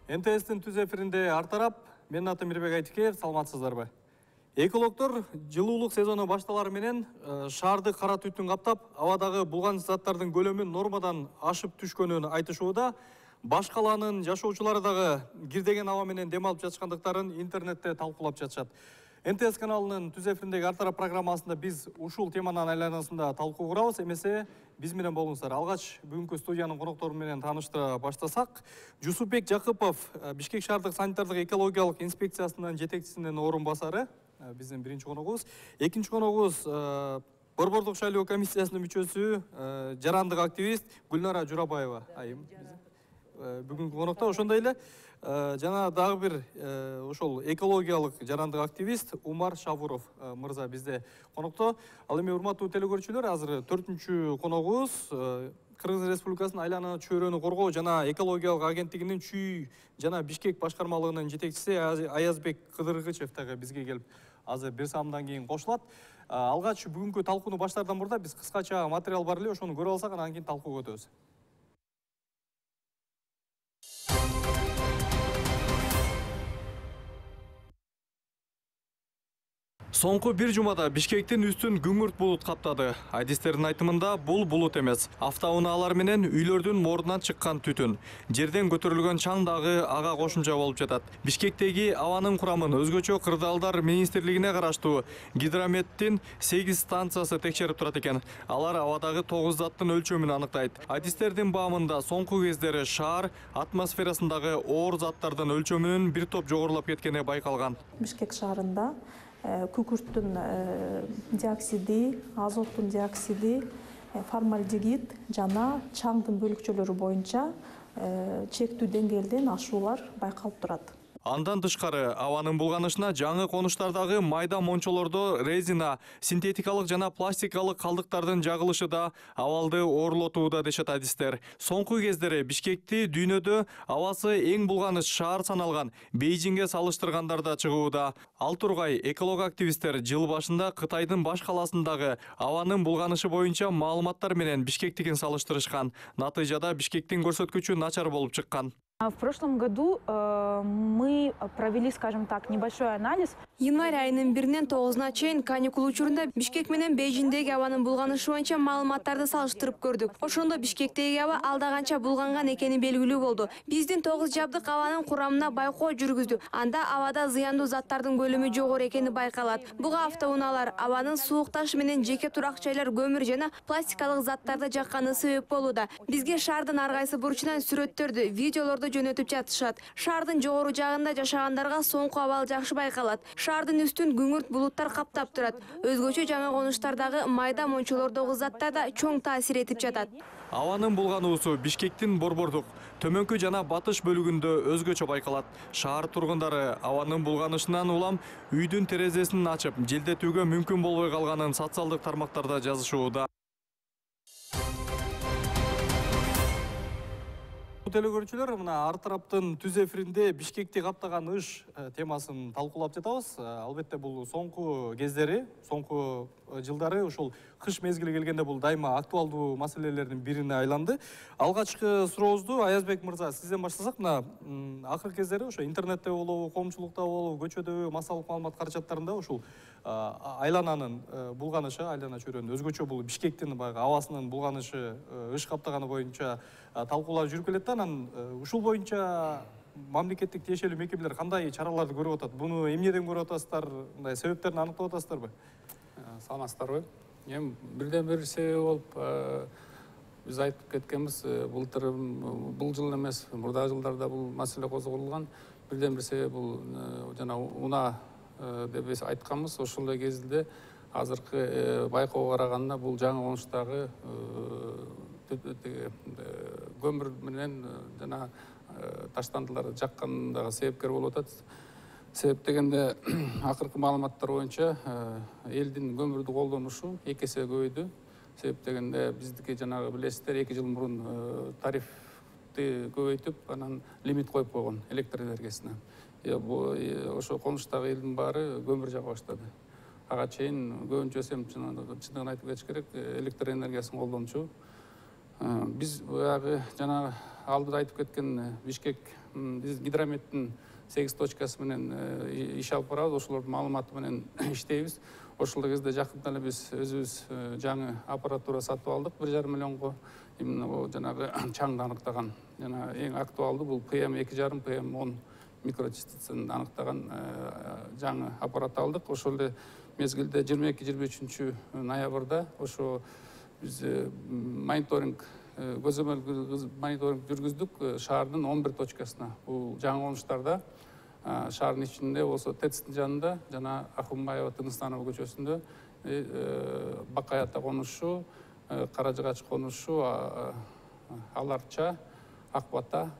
НТС'тин түз эфиринде ар тарап, менин атым Мирбек Айтикеев, саламатсыздарбы? Экологдор жылуулук сезону башталары менен шаарды кара түтүн каптап, абадагы булганыч заттардын көлөмү нормадан ашып түшкөнүн айтышууда. Баш калаанын жашоочулары дагы кирдеген аба менен дем алып жатышкандыктарын интернетте талкуулап жатышат. НТС каналынын түз эфириндеги ар тарап программасында биз ушул теманын айланасында талкуу курабыз. Эмесе биз менен болуңуздар. Алгач бүгүнкү студиянын коноктору менен тааныштыра баштасак, Жусупбек Жакыпов, Бишкек шаардык санитардык экологиялык инспекциясынын жетекчисинин орун басары, биздин биринчи коногубуз. Экинчи коногубуз Борбордук шайлоо комиссиясынын мүчөсү, жарандык активист Гүлнара Журабаева айым. Бүгүнкү конокто ошондой эле жана дагы бир ошол экологиялык жарандык активист Умар Шавуров мырза бизде конокто. Ал эми урматтуу телекөрүүчүлөр, азыр 4-чү коногубуз Кыргыз Республикасынын айлана чөйрөнү коргоо жана экологиялык агенттигинин Чүй жана Бишкек башкармалыгынын жетекчиси Аязбек Кыдыргычев дагы бизге келип азыр бир саамдан кийин кошулат. Алгач бүгүнкү талкууну баштаардан мурда биз кыскача материал бар эле, ошону көрүп алсак, анан кийин талкууга өтөбүз. Соңку бир жумада Бишкектин үстүн күңүрт булут каптады. Адистердин айтымында бул булут эмес, автоунаалар менен үйлөрдүн мордунан чыккан түтүн. Жерден көтөрүлгөн чаң дагы ага кошумча болуп жатат. Бишкектеги абанын курамын өзгөчө Кырдаалдар министрлигине караштуу Гидрометтин 8 станциясы текшерип турат экен. Алар абадагы 9 заттын өлчөмүн аныктайт. Адистердин баамында соңку кездери шаар атмосферасындагы оор заттардын өлчөмүнүн бир топ жогорулап кеткени байкалган. Бишкек шаарында күкүрттүн диоксиди, азоттун диоксиди, формальдегид жана чаңдын бөлүкчөлөрү боюнча чектүү деңгээлден ашуулар байкалып турат. Андан тышкары абанын булганышына жаңы конуштардагы майда мончолордо резина, синтетикалык жана пластикалык калдыктардын жагылышы да абалды оорлотууда дешет адистер. Соңку кездери Бишкекти дүйнөдө абасы эң булганыч шаар саналган Бейжиңге салыштыргандар да чыгууда. Ал тургай эколог активисттер жыл башында Кытайдын баш калаасындагы абанын булганышы боюнча маалыматтар менен Бишкектикин салыштырышкан. Натыйжада Бишкектин көрсөткүчү начар болуп чыккан. В прошлом году мы провели, скажем так, небольшой анализ. Январь айынын 1-нен 9-на чейин каникул учурунда Бишкек менен Бейжиңдеги абанын булганышы боюнча маалыматтарды салыштырып көрдүк. Ошондо Бишкектеги аба алда канча булганган экени белгилүү болду. Биздин 9 жабдык абанын курамына байкоо жүргүздү. Анда абада зыяндуу заттардын көлөмү жогору экени байкалат. Буга автоунаалар, абанын суук таш менен жеке турак жайлар көмүр жана пластикалык заттарды жакканы себеп болууда. Бизге шаардын ар кайсы бурчунан сүрөттөрдү, видеолорду жөнөтүп жатышат. Шаардын жогору жагында жашагандарга соңку абал жакшы байкалат. Шаардын үстүн күңүрт булуттар каптап турат. Өзгөчө жаңы конуштардагы майда мончолордогу заттар да чоң таасир этип жатат. Абанын булгануусу Бишкектин борбордук, төмөнкү жана батыш бөлүгүндө өзгөчө байкалат. Шаар тургундары абанын булганышынан улам үйдүн терезесин ачып, желдетүүгө мүмкүн болбой калганын социалдык тармактарда жазышууда. Телекөрүүчүлөр, мына ар тараптын түз эфиринде Бишкекти каптаган ыш темасын талкуулап жатабыз. Албетте бул соңку кездери, соңку жылдары ушул кыш мезгили келгенде бул дайыма актуалдуу маселелердин бирине айланды. Алгачкы сурообузду Аязбек мырза сизден баштасак, мына акыркы кездери ошо интернетте болобу, коомчулукта болобу, көчөдө массалык маалымат каражаттарында ушул айлананын булганышы, айлана чөйрөнүн өзгөчө бул Бишкектин баягы абасынын булганышы ыш каптаганы боюнча талкуулар жүрүп келет. Анан ушул боюнча мамлекеттик тиешелүү мекемелер кандай чараларды көрүп атат? Буну эмнеден көрүп атасыздар? Мындай себептерин аныктап атасыздарбы? Саламатсыздарбы? Эми бирден бир себеби болуп биз айтып кеткенбиз, былтыр бул жыл эмес, мурдагы жылдарда бул маселе козголгон. Бирден бир себеби бул жана унаа деп биз айтканбыз. Ошол эле кезинде азыркы байкоого караганда бул жаңы конуштагы көмүр менен жана таштандыларды жаккандагы себепкер болуп атат. Себеп дегенде акыркы маалыматтар боюнча элдин көмүрдү колдонушу 2 эсе көбөйдү. Себеп дегенде биздики жанагы билесиздер 2 жыл мурун тарифти көбөйтүп, анан лимит коюп койгон электр энергиясына. Ошо конуштагы элдин баары көмүр жага баштады. Ага чейин көбүнчөсү чындыгын айтып кетиш керек, электр энергиясын колдончу. Биз баягы жана алдыда айтып кеткен Бишкек гидрометтин 8 точкасы менен иш алып барабыз. Ошолордун маалыматы менен иштейбиз. Ошол кезде жакында эле биз өзүбүз жаңы аппаратура сатып алдык 1,5 миллионго. Именно жанагы чаңды аныктаган жана эң актуалдуу бул PM2,5 PM10 микрочастицаны аныктаган жаңы аппарат алдык. Ошол эле мезгилде 22-23 ноябрда ошо биз мониторинг көзөмөл мониторинг жүргүздүк шаардын 11 точкасына. Бул жаңы конуштарда шаардын ичинде болсо ТЭЦтин жанында жана Ахунбаева Тыныстанова көчөсүндө Бакай ата конушу, Каражыгач конушу, Аларча, Акбата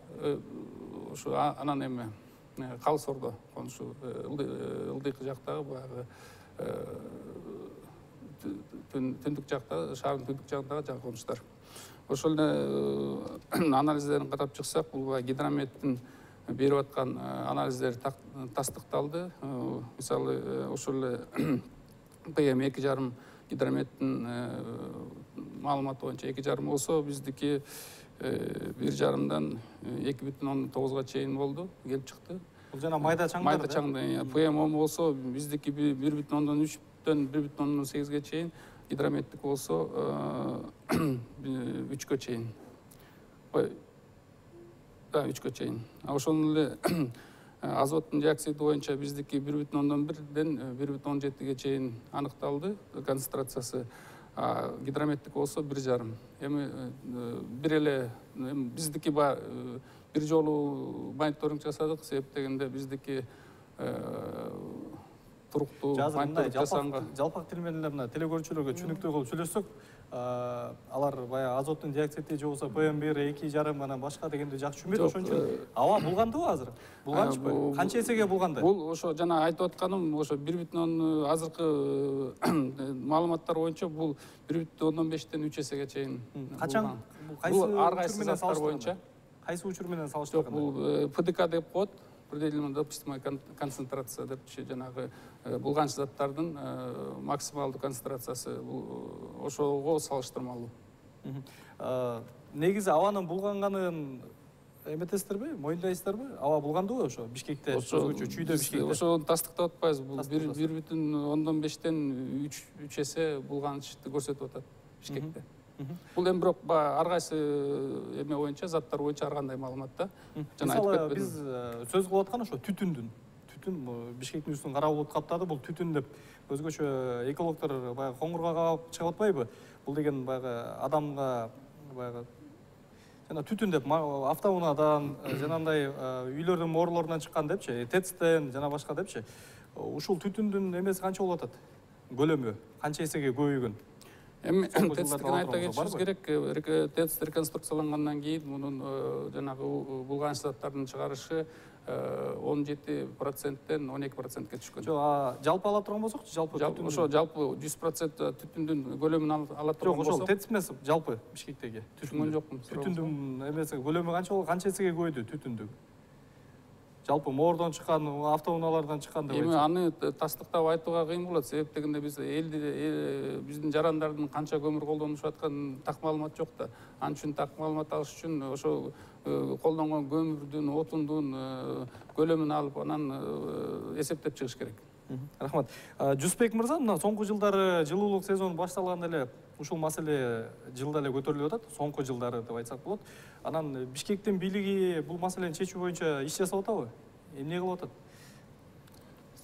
ушу анан эме Калсордо конушу ылдыйкы жактагы баягы түндүк жактагы шаардын түндүк жагындагы жаңы конуштар. Ошол эле анализдерин карап чыксак, бул гидрометтин берип аткан анализдер тастыкталды. Мисалы ошол эле PM2,5 гидрометтин маалыматы боюнча 2,5 болсо, биздики 1,5дан 2,9га чейин болду, келип чыкты. Бул жана майда чаңдар. Майда чаңдар. PM10 болсо биздики 1,3дөн 1,8ге чейин, гидрометтик болсо 3кө чейин. Да, 3кө чейин. Ошондой эле азоттун диоксиди боюнча биздики 1,1ден 1,17ге чейин аныкталды концентрациясы. Гидрометтик болсо 1,5. Эми бир эле биздики бир жолу мониторинг жасадык, себеп дегенде биздики туруктуу мониторинг жасаганга. Жалпак тил менен эле мына телекөрүүчүлөргө түшүнүктүү кылып сүйлөшсөк, алар баягы азоттун диоксиди же болбосо PM1, 2,5 анан башка дегенди жакшы түшүнбөйт. Ошон үчүн аба булгандыбы азыр? Булганчпы? Канча эсеге булганды? Бул ошо жана айтып атканым, ошо 1,10 азыркы маалыматтар боюнча бул 1,15ден 3 эсеге чейин. Качан? Бул ар кайсы заттар боюнча. Кайсы учур менен салыштырганда? Бул ПДК деп коет. Предельно допустимая концентрация депчи, жанагы булганчы заттардын максималдуу концентрациясы ошого салыштырмалуу. Негизи абанын булганганын эметесиздерби, моюндайсыздарбы? Аба булгандыбы ошо Бишкекте, өзгөчө чүйдө Бишкекте? Ошону тастыктап атпайбыз. Бул 1,15ден 3 эсе булганычты көрсөтүп атат Бишкекте. Бул эми бирок ар кайсы эме боюнча, заттар боюнча ар кандай маалымат да. Мисалы биз сөз кылып аткан ошо түтүн Бишкектин үстүн кара булут каптады, бул түтүн деп өзгөчө экологдор баягы коңгурга кабап чыгып атпайбы? Бул деген баягы адамга баягы жана түтүн деп автоунаадан жанагындай үйлөрдүн моорлорунан чыккан депчи, ТЭЦтен жана башка депчи. Ушул түтүндүн эмеси канча болуп атат? Көлөмү канча эсеге көбөйгөн? Эми ТЭЦтин айта кетишибиз керек. ТЭЦ реконструкциялангандан кийин мунун жанагы булганчы заттардын чыгарышы 17%ден 12%ке түшкөн. Жалпы ала турган болсокчу, жалпы ошо жалпы 100% түтүндүн көлөмүн ала турган болсок. Ошол ТЭЦ эмес, жалпы Бишкектеги. Түшүнгөн жокмун. Түтүндүн эмеси көлөмү канча болду, канча эсеге көбөйдү түтүндү? Жалпы моордон чыккан, автоунаалардан чыккан деп айтсак. Эми аны тастыктап айтууга кыйын болот, себеп дегенде биз биздин жарандардын канча көмүр колдонушуп атканын так маалымат жок да. Ал үчүн так маалымат алыш үчүн ошо колдонгон көмүрдүн, отундун көлөмүн алып, анан эсептеп чыгыш керек. Рахмат. Жусбек мырза, мына соңку жылдары жылуулук сезону башталганда эле ушул маселе жылда эле көтөрүлүп атат, соңку жылдары деп айтсак болот. Анан Бишкектин бийлиги бул маселени чечүү боюнча иш жасап атабы? Эмне кылып атат?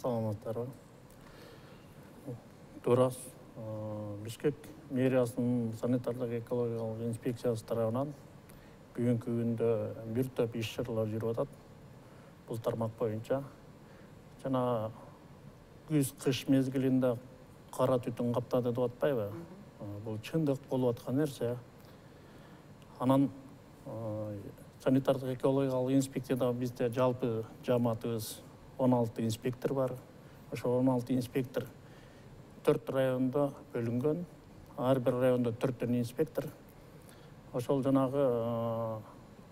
Саламаттарбы. Туура. Бишкек мэриясынын санитардык экологиялык инспекциясы тарабынан бүгүнкү күндө бир топ иш чаралар жүрүп атат. Бул тармак боюнча жана күз-кыш мезгилинде кара түтүн каптады деп атпайбы? Бул чындык болуп аткан нерсе. Анан санитардык экологиялык инспекцияда бизде жалпы жамаатыбыз 16 инспектор бар. Ошо 16 инспектор 4 райондо бөлүнгөн. Ар бир райондо 4 инспектор. Ошол жанагы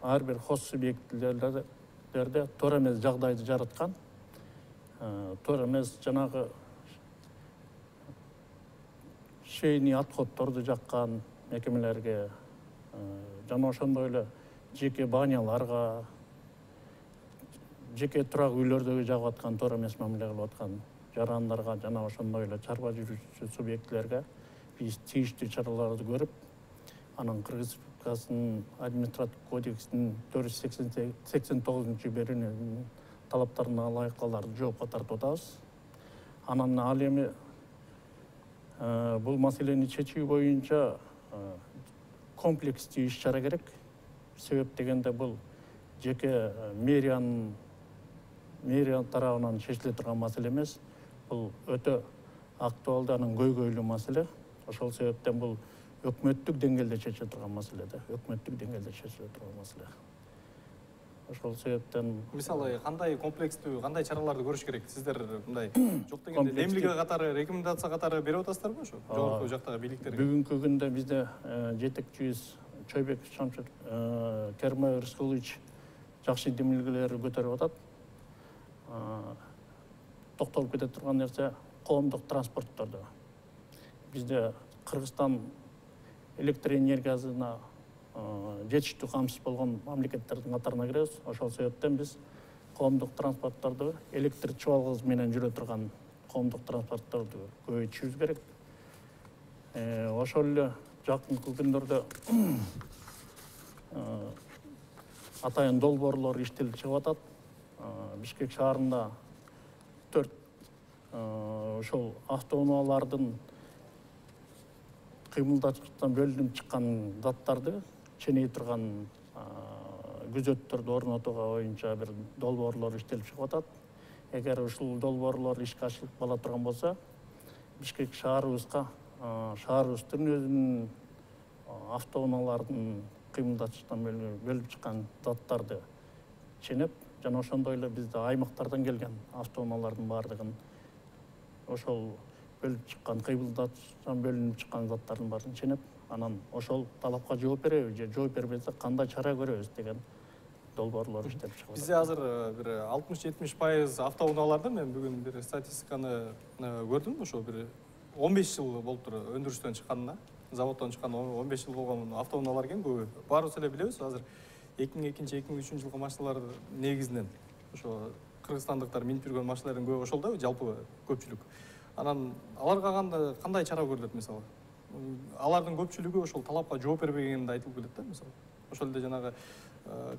ар бир хос субъектилерде туура эмес жагдайды жараткан. Туура эмес жанагы шейни отходдорду жаккан мекемелерге жана ошондой эле жеке баняларга, жеке турак үйлөрдөгү жагып аткан туура эмес мамиле кылып аткан жарандарга жана ошондой эле чарба жүргүзүүчү субъектилерге биз тийиштүү чараларды көрүп, анан Кыргыз Республикасынын административдик кодексинин 489-берүүнүн талаптарына ылайык аларды жоопко тартып атабыз. Анан ал эми бул маселени чечүү боюнча комплекстүү иш-чара керек. Себеп дегенде бул жеке мэрия тарабынан чечиле турган маселе эмес. Бул өтө актуалдуу, анан көйгөйлүү маселе. Ошол себептен бул өкмөттүк деңгээлде чечиле турган маселе да, өкмөттүк деңгээлде чечиле турган маселе. Ошол себептен Мисалы, кандай комплекстүү, кандай чараларды көрүш керек? Сиздер мындай жок дегенде демилге катары, рекомендация катары берип атасыздарбы ошо? Жогорку жактагы бийликтерге. Бүгүнкү күндө бизде жетекчибиз Чойбеков Шамшыр Кермай Рыскулович жакшы демилгелерди көтөрүп атат. Токтолуп кете турган нерсе коомдук транспорттордо. Бизде Кыргызстан электр энергиясына жетиштүү камсыз болгон мамлекеттердин катарына киребиз. Ошол себептен биз коомдук транспортторду электр чыбалгысы менен жүрө турган коомдук транспортторду көбөйтүшүбүз керек. Ошол эле жакынкы күндөрдө атайын долбоорлор иштелип чыгып атат. Бишкек шаарында 4 ошол автоунаалардын кыймылдаткычтан бөлүнүп чыккан заттарды ченей турган күзөттөрдү орнотууга боюнча бир долбоорлор иштелип чыгып атат. Эгер ушул долбоорлор ишке ашырылып кала турган болсо, Бишкек шаарыбыздын өзүнүн автоунаалардын кыймылдаткычтан бөлүнүп чыккан заттарды ченеп, жана ошондой эле бизде аймактардан келген автоунаалардын баардыгын ошол бөлүп чыккан, кыймылдаткычтан бөлүнүп чыккан заттардын баарын ченеп, анан ошол талапка жооп береби же жооп бербесек кандай чара көрөбүз деген долбоорлор иштелип чыгып атат. Бизде азыр бир 60-70% автоунааларда мен бүгүн бир статистиканы көрдүм, ошо бир 15 жыл болуптур өндүрүштөн чыкканына, заводдон чыккан 15 жыл болгон автоунаалар экен көбү. Баарыбыз эле билебиз, азыр 2002-2003 жылкы машиналар негизинен ошо кыргызстандыктар минип жүргөн машиналардын көбү ошол да, жалпы көпчүлүк. Анан аларга кандай чара көрүлөт мисалы? Алардын көпчүлүгү ошол талапка жооп бербегени айтылып келет да, мисалы. Ошол эле жанагы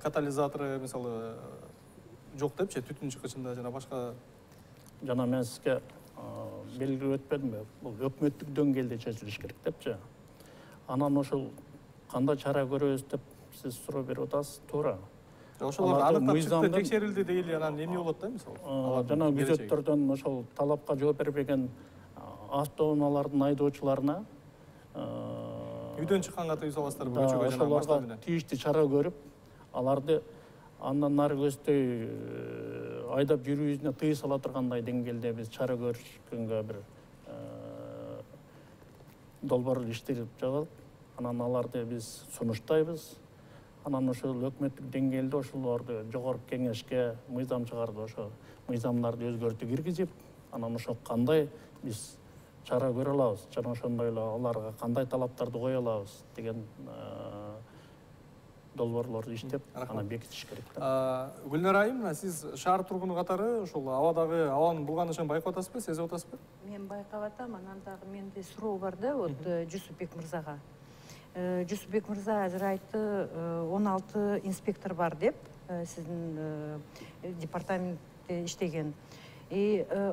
катализатору мисалы жок депчи, түтүн чыккычында жана башка. Жана мен сизге белгилеп өтпөдүмбү? Бул өкмөттүк деңгээлде чечилиш керек депчи. Анан ошол кандай чара көрөбүз деп сиз суроо берип атасыз, туура. Ошолор аныктап чыкты, текшерилди дейли, анан эмне болот да мисалы? Жана күзөттөрдөн ошол талапка жооп бербеген автоунаалардын айдоочуларына үйдөн чыкканга тыюу саласыздарбы, көчөгө жана машина менен? Тийиштүү чара көрүп, аларды андан нары көздөй айдап жүрүүсүнө тыюу сала тургандай деңгээлде биз чара көрүшкөнгө бир долбоор иштелип жатат. Анан аларды биз сунуштайбыз. Анан ошол өкмөттүк деңгээлде ошолорду жогорку кеңешке мыйзам чыгарды, ошо мыйзамдарды өзгөртүү киргизип, анан ошо кандай биз чара көрө алабыз, жана ошондой эле аларга кандай талаптарды кое алабыз деген долбоорлорду иштеп, анан бекитиш керек да. Гүлнара айым, сиз шаар тургуну катары ошол абадагы абанын булганышын байкап атасызбы, сезип атасызбы? Мен байкап атам, анан дагы менде суроо бар да, вот Жусупбек мырзага. Жусупбек мырза азыр айтты, 16 инспектор бар деп, сиздин департаментте иштеген.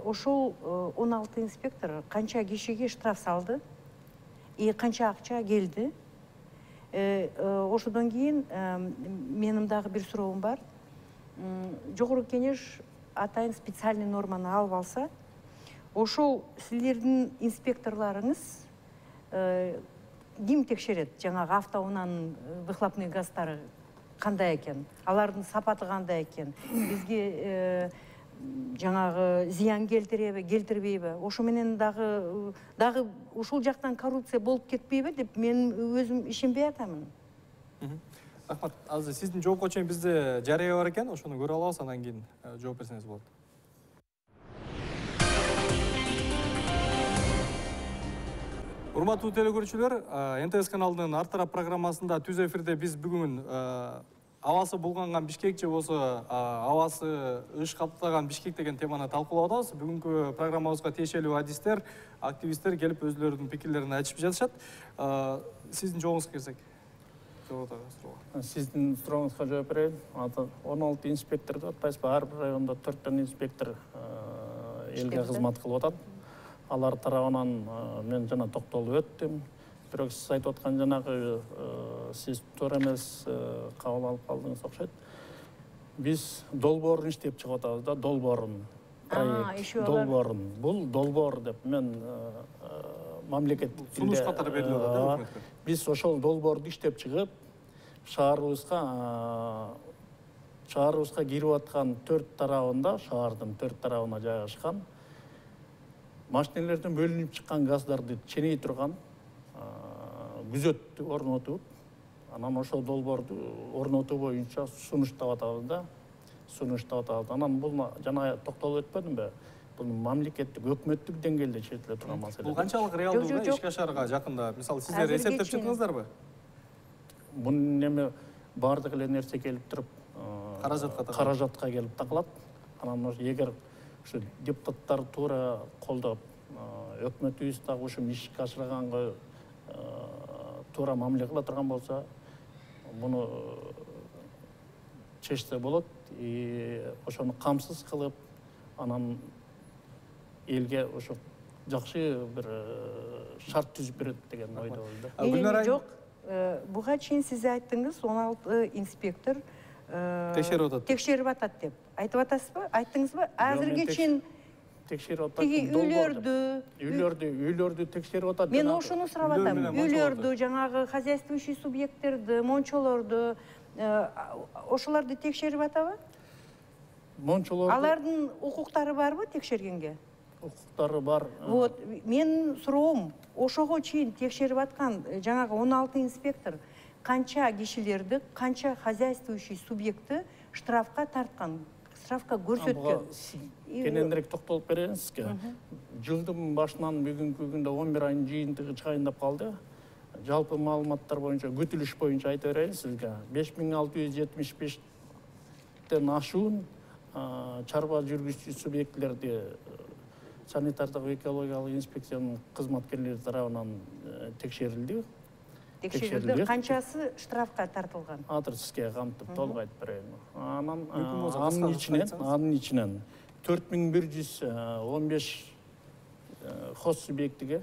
Ошол 16 инспектор канча кишиге штраф салды, канча акча келди. Ошодон кийин менин дагы бир суроом бар. Жогорку кеңеш атайын специальный норманы алып алса, ошол силердин инспекторлоруңуз ким текшерет? Жаңагы автоунаанын выхлопный газдары кандай экен? Алардын сапаты кандай экен? Бизге жаңагы зыян келтиреби, келтирбейби? Ошо менен дагы ушул жактан коррупция болуп кетпейби деп мен өзүм ишенбей атамын. Рахмат. Азыр сиздин жоопко чейин бизде жарыя бар экен, ошону көрө алабыз, андан кийин жооп берсеңиз болот. Урматтуу телекөрүүчүлөр, НТС каналынын Ар тарап программасында түз эфирде биз бүгүн абасы булганган Бишкек же болсо абасы ыш каптаган Бишкек деген теманы талкуулап атабыз. Бүгүнкү программабызга тиешелүү адистер, активисттер келип өзлөрүнүн пикирлерин айтышып жатышат. Сиздин жообуңузга келсек. Сиздин сурооңузга жооп берейин. 16 инспектор деп атпайсызбы? Ар бир райондо 4 инспектор элге кызмат кылып атат. Алар тарабынан мен жана токтолуп өттүм. Бирок сиз айтып аткан жанагы сиз туура эмес кабыл алып калдыңыз окшойт. Биз долбоорун иштеп чыгып атабыз да, долбоорун. Проект долбоорун. Бул долбоор деп мен мамлекеттик сунуш катары берилип атат да. Биз ошол долбоорду иштеп чыгып, шаарыбызга кирип аткан 4 тарабында, шаардын 4 тарабына жайгашкан машинелерден бөлүнүп чыккан газдарды ченей турган күзөттү орнотуп, анан ошол долбоорду орнотуу боюнча сунуштап атабыз да. Анан бул жана токтолуп өтпөдүмбү? Бул мамлекеттик, өкмөттүк деңгээлде чечиле турган маселе. Бул канчалык реалдуу ишке ашарга жакында? Мисалы, сиздер эсептеп чыктыңыздарбы? Бунун неме бардык эле нерсе келип туруп, каражатка келип такалат. Анан эгер ушу депутаттар туура колдоп, өкмөтүбүз дагы ушул ишке ашырганга туура мамиле кыла турган болсо, муну чечсе болот. Ошону камсыз кылып, анан элге ошо жакшы бир шарт түзүп берет деген ойдобуз. Жок, буга чейин сиз айттыңыз, 16 инспектор текшерип атат деп. Айтып атасызбы? Айттыңызбы? Азыркы чейин текшерип атат. Үйлөрдү текшерип атат. Мен ошону сурап атам. Үйлөрдү, жанагы хозяйствующий субъекттерди, мончолорду, ошолорду текшерип атабы? Мончолорду. Алардын укуктары барбы текшергенге? Укуктары бар. Вот, мен суроом, ошого чейин текшерип аткан жанагы 16 инспектор канча кишилерди, канча хозяйствующий субъектти штрафка тарткан, штрафка көрсөткөн? Кененирээк токтолуп берейин сизге. Жылдын башынан бүгүнкү күндө 11 айдын жыйынтыгы чыгайындап калды. Жалпы маалыматтар боюнча, күтүлүш боюнча айтып берейин сизге. 5675тен ашуун чарба жүргүзчү субъектлерди санитардык экологиялык инспекциянын кызматкерлери тарабынан текшерилди. Канчасы штрафка тартылган? Азыр сизге камтып толук айтып берейин. Анын ичинен 4115 хоз субъектиге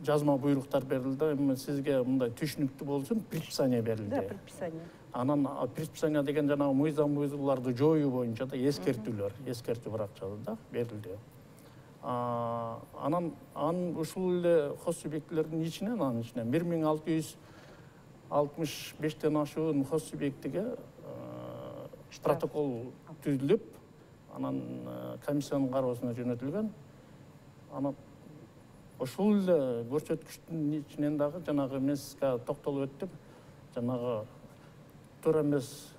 жазма буйруктар берилди. Эми сизге мындай түшүнүктүү болсун, предписание берилди. Да, предписание. Анан предписание деген жанагы мыйзам бузууларды жоюу боюнча да эскертүү баракчасы да берилди. Анан ушул эле хоз субъектилердин ичинен 1665тен ашуун хоз субъектиге протокол түзүлүп, анан комиссиянын кароосуна жөнөтүлгөн. Анан ошол эле көрсөткүчтүн ичинен дагы жанагы мен сизге токтолуп өттүм. Жанагы туура эмес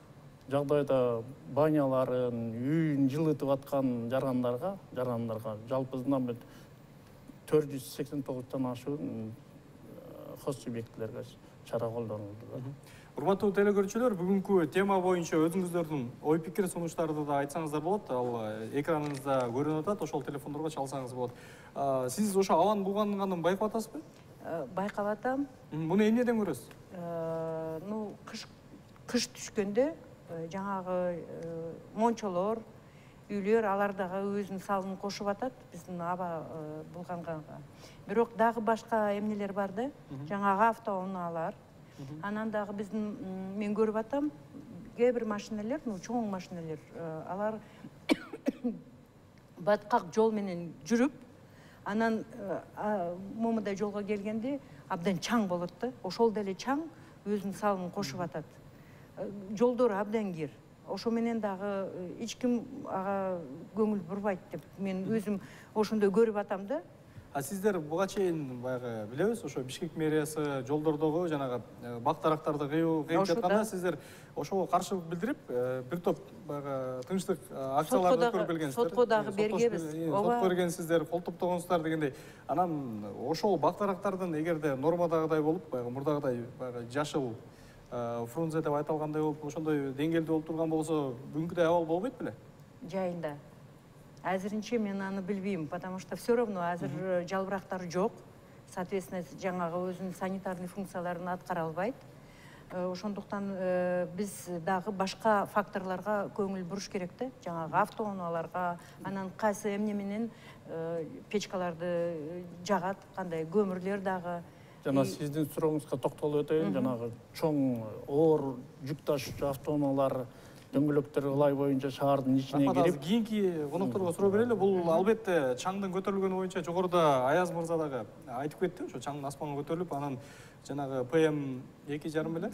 жагдайда баняларын, үйүн жылытып аткан жарандарга жалпы знамет 489тан ашуун хоз субъектилерге чара колдонулду. Урматтуу телекөрүүчүлөр, бүгүнкү тема боюнча өзүңүздөрдүн ой пикир сунуштарды да айтсаңыздар болот. Ал экраныңызда көрүнүп атат, ошол телефондорго чалсаңыз болот. Сиз ошо абанын булганганын байкап атасызбы? Байкап атам. Муну эмнеден көрөсүз? Кыш түшкөндө жаңагы мончолор, үйлөр алар дагы өзүнүн салымын кошуп атат биздин аба булганганга. Бирок дагы башка эмнелер бар да, жаңагы автоунаалар. Анан дагы биздин мен көрүп атам, кээ бир машиналар, чоң машиналар, алар баткак жол менен жүрүп, анан момудай жолго келгенде абдан чаң болот да. Ошол деле чаң өзүнүн салымын кошуп атат. Жолдор абдан кир. Ошо менен дагы эч ким ага көңүл бурбайт деп мен өзүм ошондой көрүп атам да. А сиздер буга чейин баягы билебиз, ошо Бишкек мэриясы жолдордогу жанагы бак дарактарды кыйып жатканда сиздер ошого каршылык билдирип, бир топ баягы тынчтык акцияларды өткөрүп келгенсиздер. Сотко дагы бергенбиз. Сотко бергенсиздер, кол топтогонсуздар дегендей. Анан ошол бак дарактардын эгерде нормадагыдай болуп, баягы мурдагыдай баягы жашыл фрунзе деп айтылгандай болуп, ошондой деңгээлде болуп турган болсо, бүгүнкүдөй абал болбойт беле? Жайында. Азырынча мен аны билбейм, потому что все равно азыр жалбырактар жок. Соответственно, жаңагы өзүнүн санитарный функцияларын аткара албайт. Ошондуктан биз дагы башка факторлорго көңүл буруш керек да. Жаңагы автоунааларга, анан кайсы эмне менен печкаларды жагат, кандай көмүрлөр дагы. Жана сиздин сурооңузга токтолуп өтөйүн. Жанагы чоң оор жүк ташуучу автоунаалар, дөңгөлөктөр ылай боюнча шаардын ичине кирип, кийинки конокторго суроо берели. Бул албетте чаңдын көтөрүлгөнү боюнча жогоруда Аяз мырза дагы айтып кетти, ошо чаңдын аспанга көтөрүлүп, анан жанагы ПМ 2,5 беле,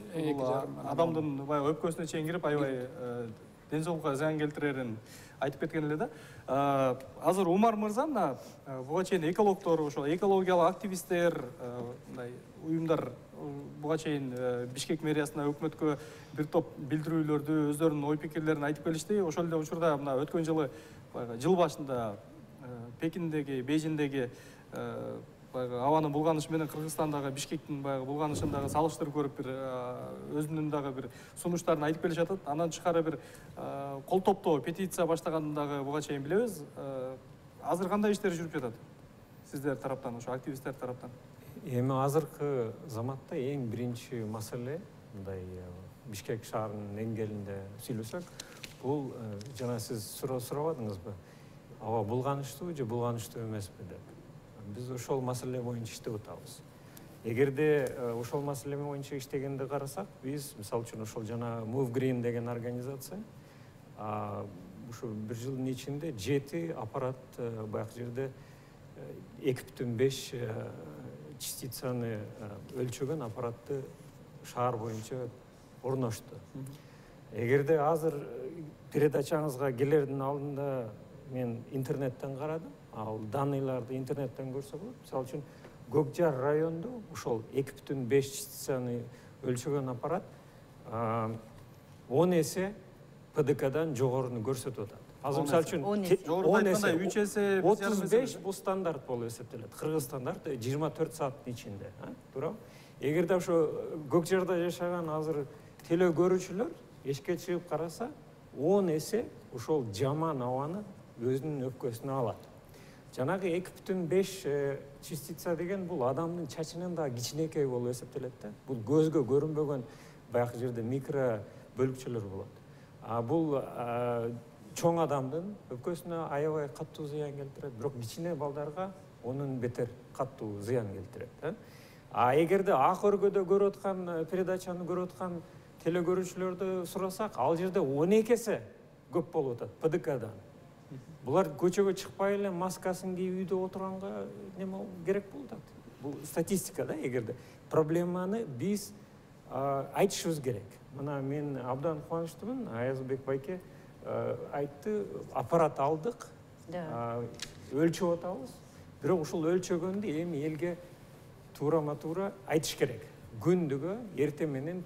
адамдын баягы өпкөсүнө чейин кирип, аябай ден соолукка зыян келтирерин айтып кеткен эле да. Азыр Умар мырза мына буга чейин экологдор, ошо экологиялык активисттер, мындай уюмдар буга чейин Бишкек мэриясына, өкмөткө бир топ билдирүүлөрдү, өздөрүнүн ой пикирлерин айтып келишти. Ошол эле учурда мына өткөн жылы жыл башында Пекиндеги, Бейжиңдеги баягы абанын булганышы менен Кыргызстандагы Бишкектин баягы булганышын дагы салыштырып көрүп, бир өзүнүн дагы бир сунуштарын айтып келип жатат. Андан тышкары бир кол топтоо петиция баштаганын дагы буга чейин билебиз. Азыр кандай иштер жүрүп жатат сиздер тараптан, ошо активисттер тараптан? Эми азыркы заматта эң биринчи маселе, мындай Бишкек шаарынын деңгээлинде сүйлөсөк, бул жана сиз сурабадыңызбы? Аба булганычтуу же булганычтуу эмеспи деп. Биз ошол маселе боюнча иштеп атабыз. Эгерде ошол маселе боюнча иштегенди карасак, биз мисалы үчүн ошол жана Move Green деген организация ушу бир жылдын ичинде 7 аппарат баягы жерде 2,5 частицаны өлчөгөн аппаратты шаар боюнча орношту. Эгерде азыр передачаңызга келердин алдында мен интернеттен карадым, ал данныйларды интернеттен көрсө болот. Мисалы үчүн Көкжар районунда ошол 2,5 частицаны өлчөгөн аппарат 10 эсе ПДКдан жогоруну көрсөтүп атат. Азыр мисалы үчүн 10 эсе, 3 эсе 35 бул стандарт болуп эсептелет. Кыргыз стандарт 24 сааттын ичинде, туурабы? Эгерде ошо Көкжарда жашаган азыр теле көрүүчүлөр эшикке чыгып караса, 10 эсе ошол жаман абаны өзүнүн өпкөсүнө алат. Жанагы 2,5 частица деген бул адамдын чачынан да кичинекей болуп эсептелет да. Бул көзгө көрүнбөгөн баягы жерде микро бөлүкчөлөр болот. Бул чоң адамдын өпкөсүнө аябай каттуу зыян келтирет, бирок кичине балдарга онун бетер каттуу зыян келтирет. Эгерде ак өргөдө көрүп аткан передачаны көрүп аткан теле көрүүчүлөрдү сурасак, ал жерде 12 эсе көп болуп атат ПДКдан. Булар көчөгө чыкпай эле маскасын кийип үйдө отурганга неме керек болуп атат. Бул статистика да, эгерде проблеманы биз айтышыбыз керек. Мына мен абдан кубанычтымын, Аязбек байке айтты, аппарат алдык, өлчөп атабыз. Бирок ушул өлчөгөндү эми элге туура-туура айтыш керек. Күндүгө эртең менен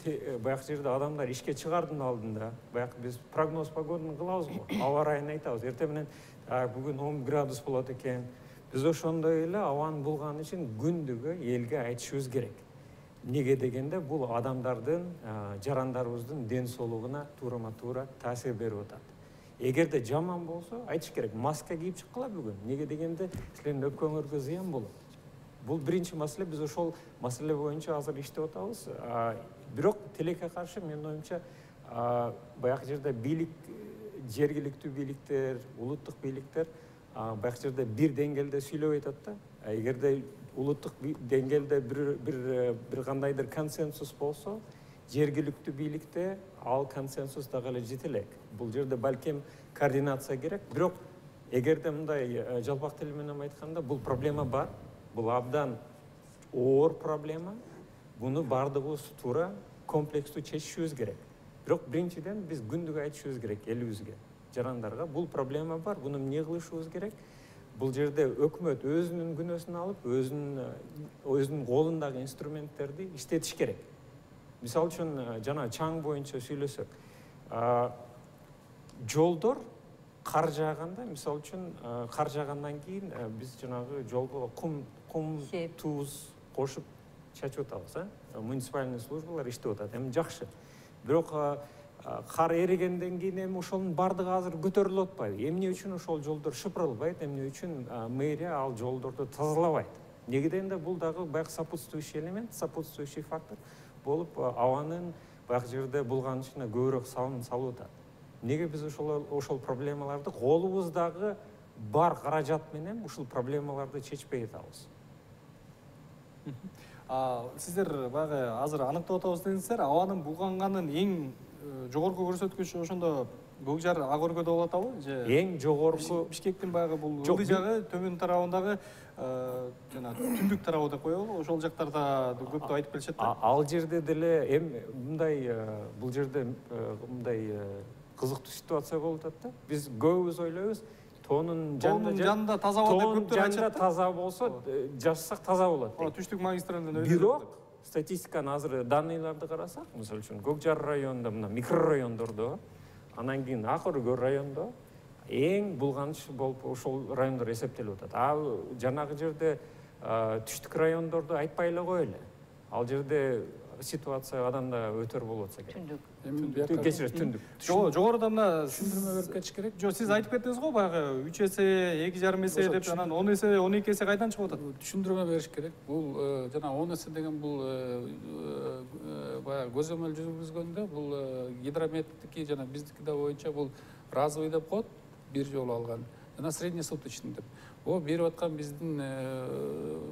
баягы жерде адамдар ишке чыгардын алдында, баягы биз прогноз погоданы кылабыз го, аба ырайын айтабыз. Эртең менен бүгүн 10 градус болот экен. Биз ошондой эле абанын булганы үчүн күндүгө элге айтышыбыз керек. Неге дегенде бул адамдардын, жарандарыбыздын ден соолугуна туура-туура таасир берип атат. Эгерде жаман болсо айтыш керек. Маска кийип чыккыла бүгүн. Неге дегенде силердин өпкөңөргө зыян болот. Бул биринчи маселе, биз ошол маселе боюнча азыр иштеп атабыз. Бирок тилекке каршы менин оюмча баягы жерде бийлик, жергиликтүү бийликтер, улуттук бийликтер баягы жерде бир деңгээлде сүйлөп атат да. Эгерде улуттук деңгээлде бир кандайдыр консенсус болсо, жергиликтүү бийликте ал консенсус дагы эле жете элек. Бул жерде балким координация керек. Бирок эгерде мындай жалпак тил менен айтканда, бул проблема бар. Бул абдан оор проблема. Буну бардыгыбыз туура комплекстүү чечишибиз керек. Бирок биринчиден биз күндүгө айтышыбыз керек элибизге, жарандарга. Бул проблема бар, буну эмне кылышыбыз керек? бул жерде өкмөт өзүнүн күнөөсүн алып, өзүнүн колундагы инструменттерди иштетиш керек. Мисалы үчүн жана чаң боюнча сөйлөсөк, жолдор кар жааганда, мисалы үчүн кар жаагандан кийин биз жанагы жолго кум, туз кошуп чачып атабыз, муниципальный службалар иштеп атат. Эми жакшы. Бирок кар эригенден кийин эми ошонун бардыгы азыр көтөрүлүп атпайбы? Эмне үчүн ошол жолдор шыпырылбайт? Эмне үчүн мэрия ал жолдорду тазалабайт? Неге дегенде бул дагы баягы сопутствующий элемент, сопутствующий фактор болуп абанын баягы жерде булганышына көбүрөөк салым салып атат. Неге биз ошол проблемаларды колубуздагы бар каражат менен ушул проблемаларды чечпей атабыз? Сиздер баягы азыр аныктап атабыз дедиңиздер, абанын булганганын эң жогорку көрсөткүчү ошондо Көкжар ак өргөдө болуп атабы? Же Эң жогорку Бишкектин баягы бул ылдый жагы, төмөн тарабындагы жана түндүк тарабы деп коелу, ошол жактарда көптү айтып келишет да. Ал жерде деле эми мындай бул жерде мындай кызыктуу ситуация болуп атат да. Биз көбүбүз ойлойбуз, тоонун жанында таза болот деп көптөр айтышат. Таза болсо, жазсак таза болот. Түштүк магистралынан Бирок статистиканы азыр данныйларды карасак, мисалы үчүн Көкжар районунда мына микрорайондордо, анан кийин Ак өргө райондо эң булганыч болуп ошол райондор эсептелип атат. Ал жанагы жерде түштүк райондорду айтпай эле коелу. Ал жерде ситуация адан да өтөр болуп атса керек. Түндүк. Кечирет, түндүк. Жогоруда мына түшүндүрмө берип кетиш керек. Жок, сиз айтып кеттиңиз го, баягы 3 эсе, 2,5 эсе деп, анан 10 эсе, 12 эсе кайдан чыгып атат? Түшүндүрмө бериш керек. Бул жана 10 эсе деген бул баягы көзөмөл жүргүзгөндө бул гидрометтики жана биздики да боюнча бул разовый деп коет, бир жолу алган. Жана среднесуточный деп. О берип аткан биздин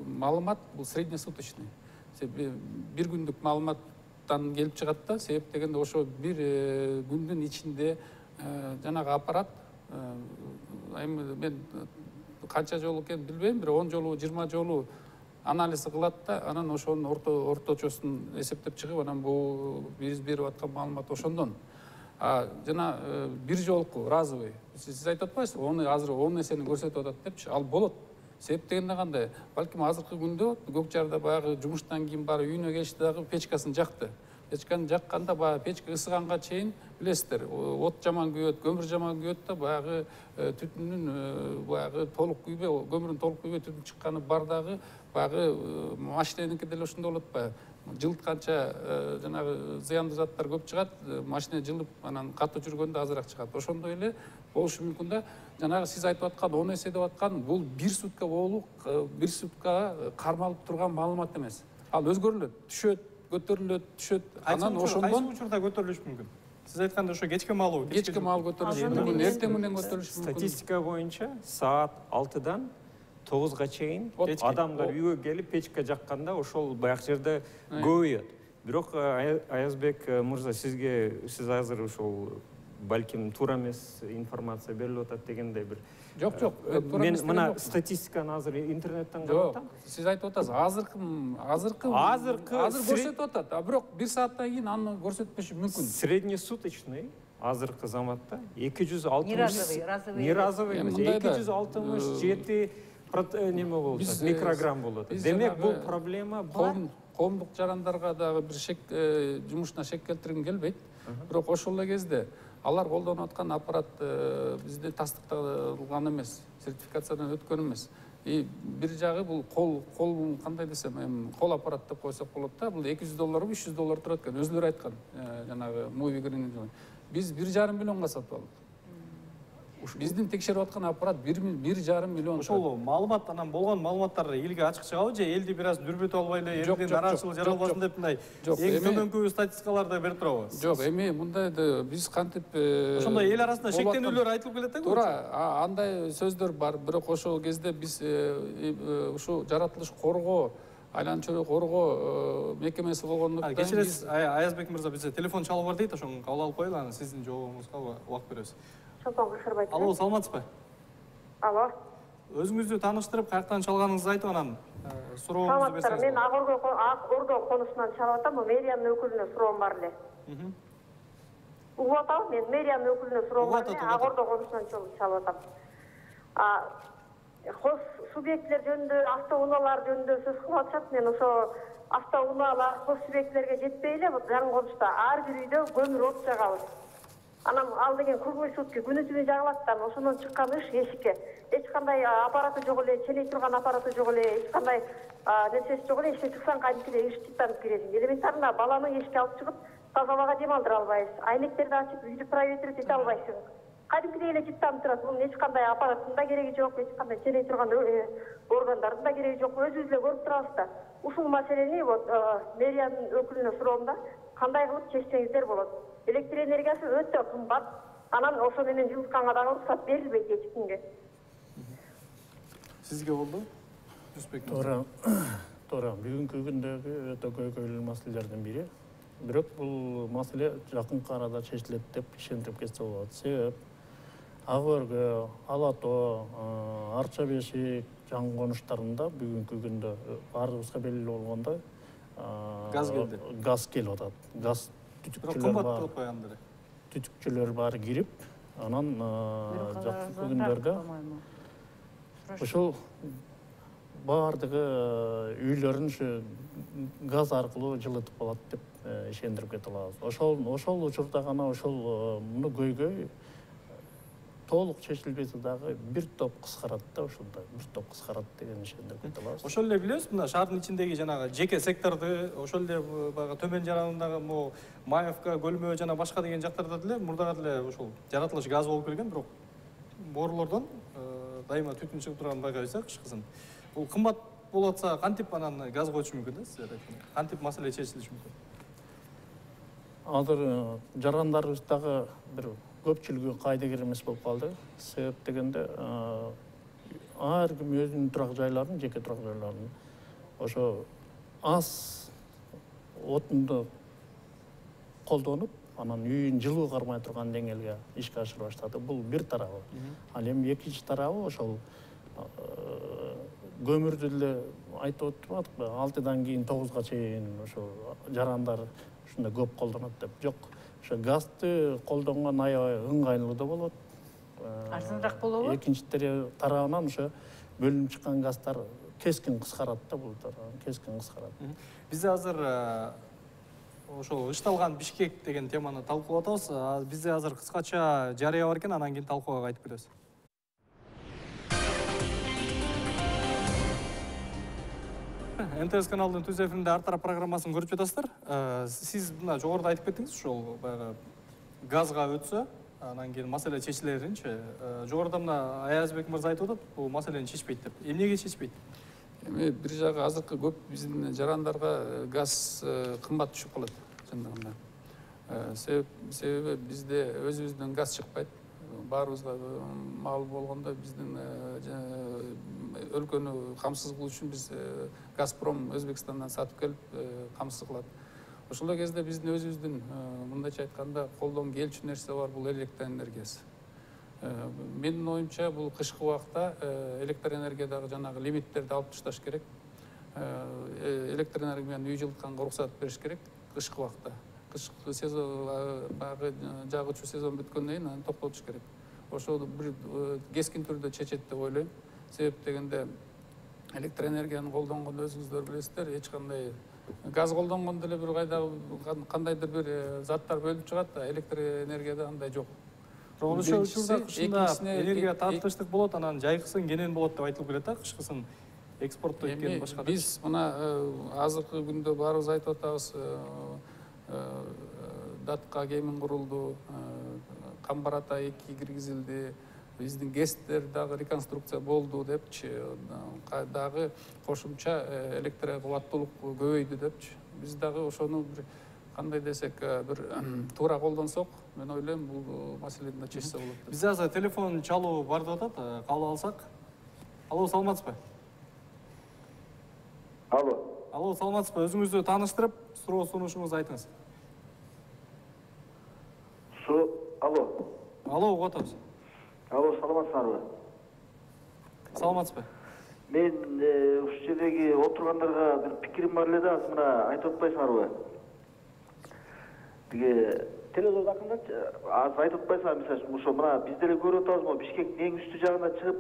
маалымат бул среднесуточный. Бир күндүк маалыматтан келип чыгат да, себеп дегенде ошо бир күндүн ичинде жанагы аппарат, эми мен канча жолу экенин билбейм, бир 10 жолу, 20 жолу анализ кылат да, анан ошонун орточосун эсептеп чыгып, анан бул биз берип аткан маалымат ошондон. Жана бир жолку разовый, сиз айтып атпайсызбы, азыр 10 эсени көрсөтүп атат депчи, ал болот. Себеп дегенде кандай? Балким азыркы күндө Көкжарда баягы жумуштан кийин барып үйүнө келишти дагы печкасын жакты. Печканы жакканда баягы печка ысыганга чейин билесиздер, от жаман күйөт, көмүр жаман күйөт да, баягы түтүндүн баягы толук күйбөй, көмүрдүн толук күйбөй түтүн чыкканы бар дагы, баягы машиненики деле ошондой болот атпайбы? Жылытканча жанагы зыяндуу заттар көп чыгат, машина жылып, анан катуу жүргөндө азыраак чыгат. Ошондой эле болушу мүмкүн да. Жанагы сиз айтып аткан 10 эсе деп аткан бул бир сутка болуп, бир сутка кармалып турган маалымат эмес. Ал өзгөрүлөт, түшөт, көтөрүлөт, түшөт. Анан ошондон кайсы учурда көтөрүлүш мүмкүн? Сиз айтканда ошо кечке маалуу, кечке маал көтөрүлүш мүмкүн, эртең менен көтөрүлүш мүмкүн. Статистика боюнча саат 6-дан 9-га чейин адамдар үйгө келип печка жакканда ошол баягы жерде көбөйөт. Бирок Аязбек мырза, сиз азыр ошол балким туура эмес информация берилип атат дегендей бир. Жок, мен мына статистиканы азыр интернеттен карап атам. Сиз айтып атасыз, азыр көрсөтүп атат, бирок бир сааттан кийин аны көрсөтпөшү мүмкүн. Среднесуточный азыркы заматта 260 не разовый эмес, 267 неме болуп атат, микрограмм болуп атат. Демек бул проблема бар. Коомдук жарандарга дагы бир жумушуна шек келтиргим келбейт. Бирок ошол эле кезде алар колдонуп аткан аппарат бизде тастыкталган эмес, сертификациядан өткөн эмес. Бир жагы бул кол кандай десем, эми кол аппарат деп койсок болот да. Бул $200, $300 турат экен. Өзүлөрү айткан, жанагы Movie Green. Биз 1,5 миллионго сатып алдык. Биздин текшерип аткан аппарат 1,5 миллион. Ошол маалымат, анан болгон маалыматтар элге ачык чыгабы же элди бир аз дүрбөтүп албай эле, элдин нараачылык жаралбасын деп мындай эң төмөнкү статистикаларды берип турабы? Жок, эми мындай биз кантип ошондой эл арасында шектенүүлөр айтылып келет да. Туура, андай сөздөр бар, бирок ошол кезде биз ушу жаратылыш коргоо, айланма чөйрөк коргоо мекемеси болгондуктан кечиресиз, Аязбек мырза, бизде телефон чалып бар дейт, ошону кабыл алып коелу, анан сиздин жообуңузга убакыт беребиз. Алло, саламатсызбы? Алло. Өзүңүздү тааныштырып, каяктан чалганыңызды айтып, анан сурооңузду берсеңиз. Мен Ак өргө конусунан чалып атам, мэриянын өкүлүнө суроом бар эле. Угуп атабы? Мен мэриянын өкүлүнө суроом бар эле, Ак өргө конусунан чалып атам. Хос субъектлер жөнүндө, автоунаалар жөнүндө сөз кылып атышат. Мен ошо автоунаалар хос субъектлерге жетпей эле жаңы конушта ар бир үйдө көмүр от жагабыз. Анан ал деген круглый сутки күнү түнү жагылат да, ошондон чыккан ыш эшикке. Эч кандай аппараты жок эле, ченей турган аппараты жок эле, эч кандай нерсеси жок эле, эшикке чыксаң кадимкидей ыш чыттанып киресиң. Элементарно баланы эшикке алып чыгып таза абага дем алдыра албайсың. Айнектерди ачып үйдү проветрить эте албайсың. Кадимкидей эле чыттанып турат. Бунун эч кандай аппараттын да кереги жок, эч кандай ченей турган органдардын да кереги жок. Өзүбүз эле көрүп турабыз да. Ушул маселени вот мэриянын өкүлүнө суроомда кандай кылып чечсеңиздер болот. Электр энергиясы өтө кымбат. Анан ошо менен жылытканга дагы уруксат берилбейт эч кимге. Сизге болду? Туура. Бүгүнкү күндөгү өтө көйгөйлүү маселелердин бири. Бирок бул маселе жакынкы арада чечилет деп ишендирип кетсе болот. Себеп Ак Өргө, Ала Тоо, Арча Бешик жаңы конуштарында бүгүнкү күндө баарыбызга белгилүү болгондой газ келди. Газ келип атат. Газ түтүкчүлөр баары кирип, анан жакынкы күндөрдө ошол баардыгы үйлөрүн ушу газ аркылуу жылытып алат деп ишендирип кете алабыз. Ошол учурда гана ошол муну көйгөй толук чечилбесе дагы бир топ кыскарат да, ошондо бир топ кыскарат деген ишендирип кете алабыз. Ошол эле билебиз, мына шаардын ичиндеги жанагы жеке секторду, ошол эле баягы төмөн жаранындагы могу Маевка, Көлмөө жана башка деген жактарда деле мурдага деле ошол жаратылыш газ болуп келген, бирок боорлордон дайыма түтүн чыгып турганын байкайбыз, кышкысын. Бул кымбат болуп атса, кантип анан газ коюш мүмкүн да, силер айткандай? Кантип маселе чечилиши мүмкүн? Азыр жарандарыбыз дагы бир көпчүлүгү кайдыгер эмес болуп калды. Себеп дегенде ар ким өзүнүн турак жайларын, жеке турак жайларын ошо аз отунду колдонуп, анан үйүн жылуу кармай турган деңгээлге ишке ашыра баштады. Бул бир тарабы. Ал эми экинчи тарабы ошол көмүрдү деле айтып отурбадыкпы? 6-дан кийин 9-га чейин ошо жарандар ушундай көп колдонот деп. Жок. Ошо газды колдонгон аябай ыңгайлуу да болот. Арзаныраак болобу? Экинчи тарабынан ошо бөлүнүп чыккан газдар кескин кыскарат да, бул кескин кыскарат. Бизде азыр ошол ышталган Бишкек деген теманы талкуулап атабыз. Бизде азыр кыскача жарыя бар экен, анан кийин талкууга кайтып келебиз. НТС каналынын түз эфиринде Ар тарап программасын көрүп жатасыздар. Сиз мына жогоруда айтып кеттиңиз, ошол баягы газга өтсө, анан кийин маселе чечилеринчи. Жогоруда мына Аязбек мырза айтып атат, бул маселени чечпейт деп. Эмнеге чечпейт? Эми бир жагы азыркы көп биздин жарандарга газ кымбат түшүп калат жандагында. Себеби бизде өзүбүздөн газ чыкпайт. Баарыбызга маалым болгондой биздин өлкөнү камсыз кылуу үчүн биз Газпром Өзбекстандан сатып келип камсыз кылат. Ошол кезде биздин өзүбүздүн мындайча айтканда колдон келчү нерсе бар, бул электр энергиясы. Менин оюмча бул кышкы убакта электр энергиядагы жанагы лимиттерди алып ташташ керек. Электр энергияны үй жылытканга уруксат бериш керек кышкы убакта. Кышкы сезон багы жагычуу сезон бүткөндөн кийин аны токтотуш керек. Ошол бир кескин түрдө чечет деп ойлойм. Себеп дегенде электр энергияны колдонгондо өзүңүздөр билесиздер, эч кандай газ колдонгондо деле бир кандайдыр бир заттар бөлүнүп чыгат да, электр энергияда андай жок. Ошол учурда кышында энергия таптыштык болот, анан жайкысын кенен болот деп айтылып келет да, кышкысын экспорттойт экен башка. Биз мына азыркы күндө баарыбыз айтып атабыз, датка кемин курулду, Камбар Ата 2 киргизилди, биздин ГЭСтер дагы реконструкция болду депчи, дагы кошумча электр кубаттуулук көбөйдү депчи. Биз дагы ошону бир кандай десек бир туура колдонсок, мен ойлойм бул маселени да чечсе болот деп. Бизде азыр телефон чалуу бар деп атат, кабыл алсак. Алло, саламатсызбы? Алло, саламатсызбы? Өзүңүздү тааныштырып, суроо сунушуңузду айтыңыз. Алло, угуп атабыз. Алло, саламатсыздарбы? Саламатсызбы? Мен ушул жердеги отургандарга бир пикирим бар эле да, азыр мына айтып атпайсыңарбы? Тиги телевизордо акырындачы, азыр айтып атпайсыңар, мисалы ошо мына биз деле көрүп атабыз, могу Бишкектин эң үстү жагына чыгып,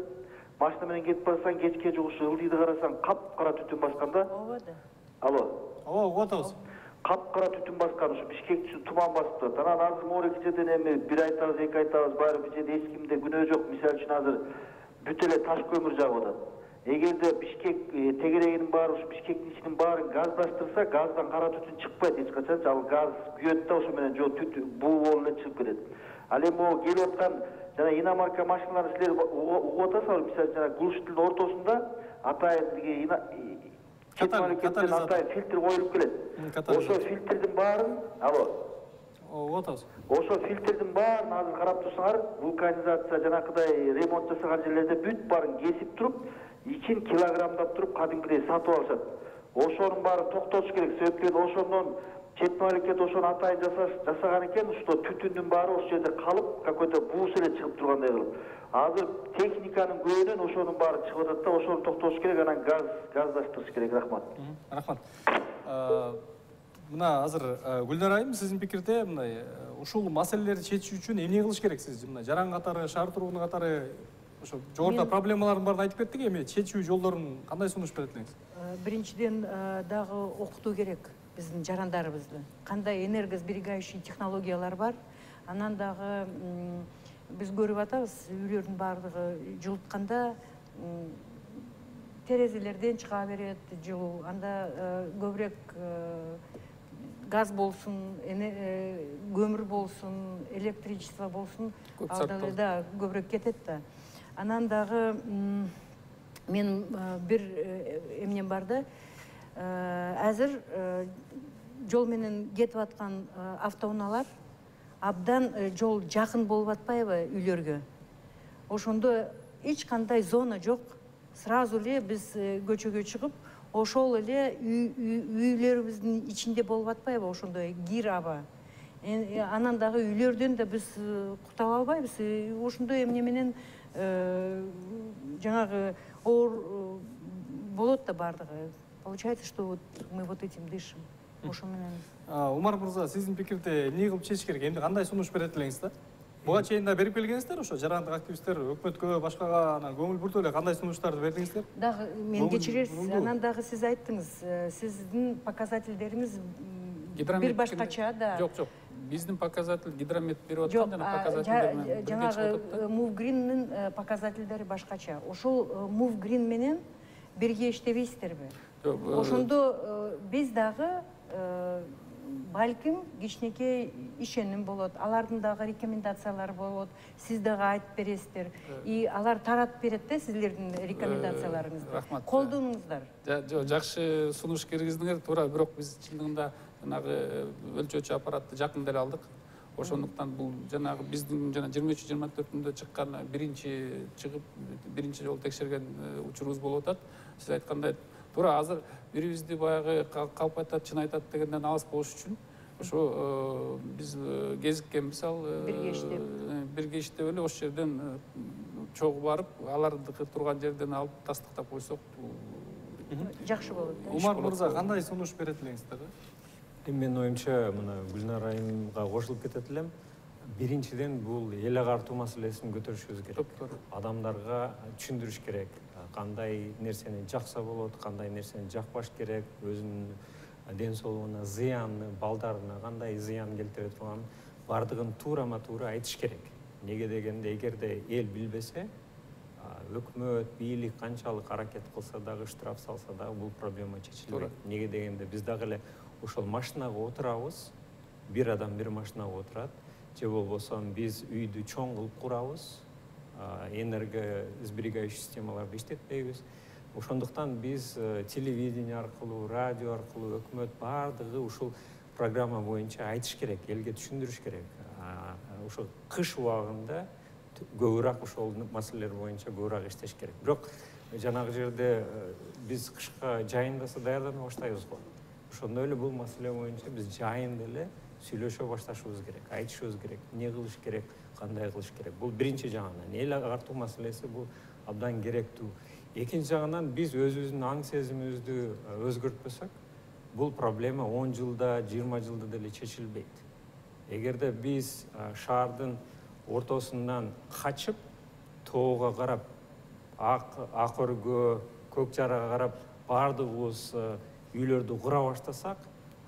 машина менен кетип барсаң, кечке жугушу ылдыйды карасаң, капкара түтүн баскан да. ооба да. Алло. ооба, угуп атабыз. Капкара түтүн баскан, ушу Бишкекти туман басып турат. Анан азыр могу жерден эми бир айтабыз, эки айтабыз, баары бир жерде эч кимде күнөө жок. Мисалы үчүн азыр бүт эле таш көмүр жагып атат. Эгерде Бишкек тегерегинин баары, ушу Бишкектин ичинин баарын газдаштырса, газдан кара түтүн чыкпайт эч качан. Ал газ күйөт да, ошо менен жо түтүн буу болуп эле чыгып кетет. Ал эми могу келип аткан жана иномарка машиналарды силер угуп атасызбы? Мисалы жана Кулуштун ортосунда атайын катализатор атайын фильтр коюлуп келет. Ошо фильтрдин баарын, угуп атабыз. Ошо фильтрдин баарын азыр карап турсаңар, вулканизация жанакыдай ремонт жасаган жерлерде бүт баарын кесип туруп, ичин килограммдап туруп кадимкидей сатып алышат. Ошонун баарын токтотуш керек. Себеби ошондон чет мамлекет ошону атайын жасаган экен, ушто түтүндүн баары ошол жерде калып, какой-то буус эле чыгып тургандай кылып. Азыр техниканын көбүнөн ошонун баары чыгып атат да, ошону токтотуш керек, анан газдаштырыш керек. Рахмат. Рахмат. Мына азыр Гүлнар айым, сиздин пикирде мындай ушул маселелерди чечүү үчүн эмне кылыш керек сиз? Мына жаран катары, шаар тургуну катары ошо жогоруда проблемалардын баарын айтып кеттик, эми чечүү жолдорун кандай сунуш берет элеңиз? Биринчиден дагы окутуу керек биздин жарандарыбызды. Кандай энергосберегающий технологиялар бар. Анан дагы биз көрүп атабыз, үйлөрдүн баардыгы жылытканда терезелерден чыга берет жылуу. Анда көбүрөөк газ болсун, көмүр болсун, электричество болсун, алда да көбүрөөк кетет да. Анан дагы мен бир эмнем бар да, азыр жол менен кетип аткан автоунаалар абдан жол жакын болуп атпайбы үйлөргө? Ошондо эч кандай зона жок. Сразу эле биз көчөгө чыгып, ошол эле үйлөрүбүздүн ичинде болуп атпайбы ошондой кир аба. Анан дагы үйлөрдөн да биз кутаба албайбыз. Ошондой эмне менен жаңагы оор болот да бардыгы. Получается, что вот мы вот этим дышим. Ошо менен. Умар мырза, сиздин пикирде эмне кылып чечиш керек? Эмне кандай сунуш берет элеңиз да? Буга чейин да берип келгенсиздер, ошо жарандык активисттер өкмөткө, башкага анан көңүл буртуп эле кандай сунуштарды бердиңиздер? Дагы мен кечиресиз, анан дагы сиз айттыңыз, сиздин показательдериңиз бир башкача да. Жок. Биздин показатель гидромет берип аткан жана показательдер жанагы Move показательдери башкача. Ошол Move менен бирге иштебейсиздерби? Ошондо биз дагы балким кичинекей ишеним болот, алардын дагы рекомендациялары болот, сиз дагы айтып бересиздер, и алар таратып берет да сиздердин рекомендацияларыңызды. Рахмат. Колдонуңуздар. Жакшы сунуш киргиздиңер, туура, бирок биз чындыгында жанагы өлчөөчү аппаратты жакын деле алдык. Ошондуктан бул жанагы биздин жана 23-24-түндө чыккан биринчи чыгып биринчи жолу текшерген учурубуз болуп атат. Сиз айткандай туура азыр бирибизди баягы калп айтат, чын айтат дегенден алыс болуш үчүн ошо биз кезиккенбиз, ал бирге иштеп эле ошол жерден чогуу барып, алардыкы турган жерден алып тастыктап койсок жакшы болот. Умар мырза, кандай сунуш берет элеңиздер? Менин оюмча, мына Гүлнар айымга кошулуп кетет элем. Биринчиден бул эл агартуу маселесин көтөрүшүбүз керек. Адамдарга түшүндүрүш керек. Кандай нерсени жакса болот, кандай нерсени жакпаш керек, өзүнүн ден соолугуна зыянны, балдарына кандай зыян келтире турган бардыгын туура айтыш керек. Неге дегенде, эгерде эл билбесе, өкмөт, бийлик канчалык аракет кылса дагы, штраф салса дагы бул проблема чечилбейт. Неге дегенде, биз дагы эле ошол машинага отурабыз, бир адам бир машинага отурат, же болбосо биз үйдү чоң кылып курабыз, энергосберегающий системаларды иштетпейбиз. Ошондуктан биз телевидение аркылуу, радио аркылуу өкмөт бардыгы ушул программа боюнча айтыш керек, элге түшүндүрүш керек. Ошо кыш убагында көбүрөөк ошол маселелер боюнча көбүрөөк иштеш керек. Бирок жанагы жерде биз кышка жайындаса даярдана баштайбыз го. Ошондой эле бул маселе боюнча биз жайында эле сүйлөшө башташыбыз керек, айтышыбыз керек, эмне кылыш керек, кандай кылыш керек. Бул биринчи жагынан эл агартуу маселеси бул абдан керектүү. Экинчи жагынан биз өзүбүздүн аң сезимибизди өзгөртпөсөк, бул проблема 10 жылда, 20 жылда деле чечилбейт. Эгерде биз шаардын ортосунан качып, тоого карап ак өргө, көк жарага карап баардыгыбыз үйлөрдү кура баштасак,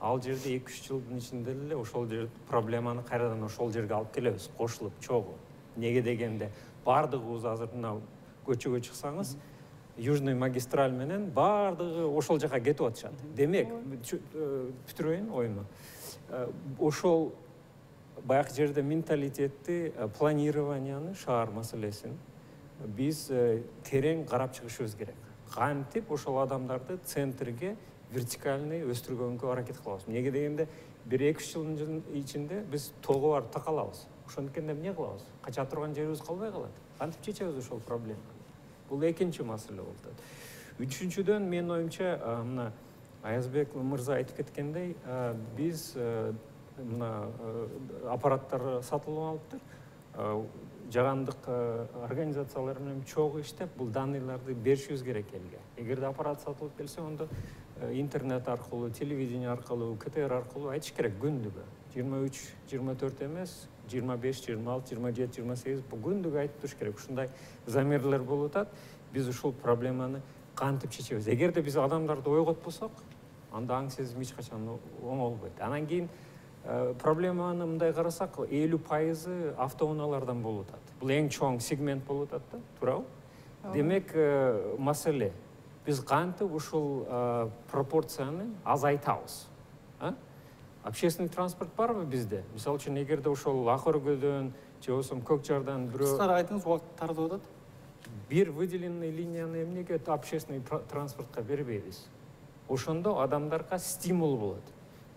ал жерде 2-3 жылдын ичинде эле ошол жер проблеманы кайрадан ошол жерге алып келебиз, кошулуп, чогуу. Неге дегенде баардыгыбыз азыр мына көчөгө чыксаңыз, Южный магистраль менен баардыгы ошол жака кетип атышат. Демек, бүтүрөйүн оюмду. Ошол баягы жерде менталитетти, планированияны, шаар маселесин биз терең карап чыгышыбыз керек. Кантип ошол адамдарды центрге вертикальный өстүргөнгө аракет кылабыз. Неге дегенде 1-2 жылдын ичинде биз тоого барып такалабыз. Ошондуктан эмне кылабыз? Кача турган жерибиз калбай калат. Кантип чечебиз ошол проблеманы? Бул экинчи маселе болуп атат. Үчүнчүдөн менин оюмча, мына Аязбек мырза айтып кеткендей, биз мына аппараттар сатылып алыптыр. Жаһандык организациялар менен чогуу иштеп, бул данныйларды беришибиз керек элге. Эгерде аппарат сатылып келсе, ондо интернет аркылуу, телевидение аркылуу, КТР аркылуу айтыш керек күндүгө. 23-24 эмес, 25, 26, 27, 28 бул күндүгө айтып туруш керек. Ушундай замерлер болуп атат. Биз ушул проблеманы кантип чечебиз? Эгерде биз адамдарды ойготпосок, анда аң сезим эч качан оңолбойт. Анан кийин проблеманы мындай карасак, 50% автоунаалардан болуп атат. Бул эң чоң сегмент болуп атат да, туурабы? Демек, маселе биз кантип ушул пропорцияны азайтабыз? Общественный транспорт барбы бизде? Мисалы үчүн, эгерде ошол ак өргөдөн же болбосо көк жардан бирөө кыскара айтыңыз, убакыт тартып атат. Бир выделенный линияны эмнеге общественный транспортко бербейбиз? Ошондо адамдарга стимул болот.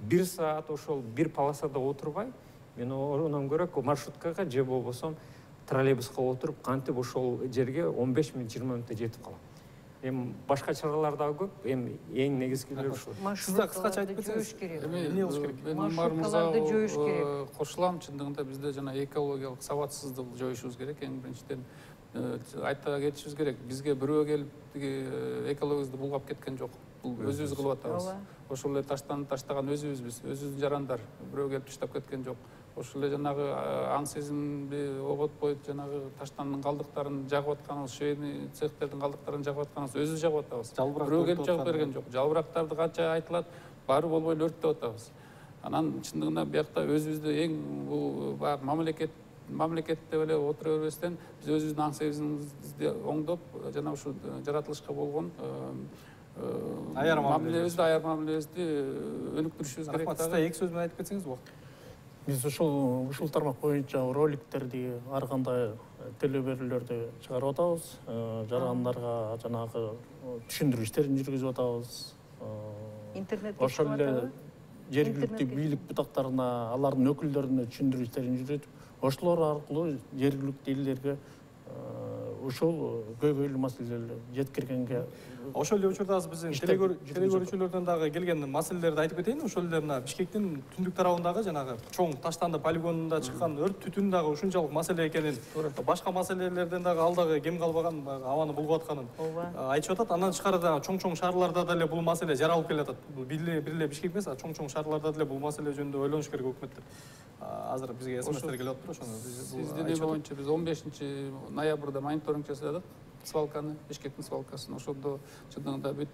1 саат ошол бир полосада отурбай, мен онон көрө маршруткага же болбосо троллейбуска отуруп, кантип ошол жерге 15 мүнөт, 20 мүнөттө жетип калам. Эми башка чаралар да көп, эми эң негизгилери ушул. Сиз да кыскача айтып кетсеңиз, эмне кылыш керек? Мен Умар мырзага кошулам. Чындыгында бизде жана экологиялык сабатсыздык жоюшубуз керек. Эң биринчиден айта кетишибиз керек. Бизге бирөө келип экологибизди булгап кеткен жок. Бул өзүбүз кылып атабыз. Ошол эле таштаган өзүбүзбүз, өзүбүздүн жарандар. Бирөө келип таштап кеткен жок. Ошол эле жанагы аң сезимди оготпой, жанагы таштандын калдыктарын жагып атканыбыз, швейный цехтердин калдыктарын жагып атканыбыз өзүбүз жагып атабыз. Бирөө келип жагып берген жок. Жалбырактарды канча айтылат, баары болбой өрттөп атабыз. Анан чындыгында биякта өзүбүздү эң бул баягы мамлекетте эле отура бербестен биз өзүбүздүн аң сезимибизди оңдоп, жана ушу жаратылышка болгон аяр мамилебизди өнүктүрүшүбүз керек. Рахмат, сиз эки сөз менен айтып кетсеңиз болот. Биз ушул тармак боюнча роликтерди, ар кандай телеберүүлөрдү чыгарып атабыз. Жарандарга жанагы түшүндүрүү иштерин жүргүзүп атабыз. Интернетке ошол эле жергиликтүү бийлик бутактарына, алардын өкүлдөрүнө түшүндүрүү иштерин жүргүзүп, ошолор аркылуу жергиликтүү элдерге ушул көйгөйлүү маселелерди жеткиргенге. Ошол эле учурда биздин телегөрүүчүлөрдөн дагы келген маселелерди айтып кетейин. Ошол эле мына Бишкектин түндүк тарабындагы жанагы чоң таштанды полигонунда чыккан өрт түтүн дагы ушунчалык маселе экенин, башка маселелерден дагы ал дагы кем калбаган, абаны булгап атканын айтышып атат. Андан тышкары да чоң шаарларда деле бул маселе жаралып келатат. Бир эле Бишкек эмес, чоң шаарларда деле бул маселе жөнүндө ойлонуш керек өкмөттөр. Азыр бизге СМСтер келип атыптыр, ошону сиздин эме боюнча биз 15 ноябрда мониторинг жасадык. Свалканы, Бишкектин свалкасын. Ошондо чындыгында бүт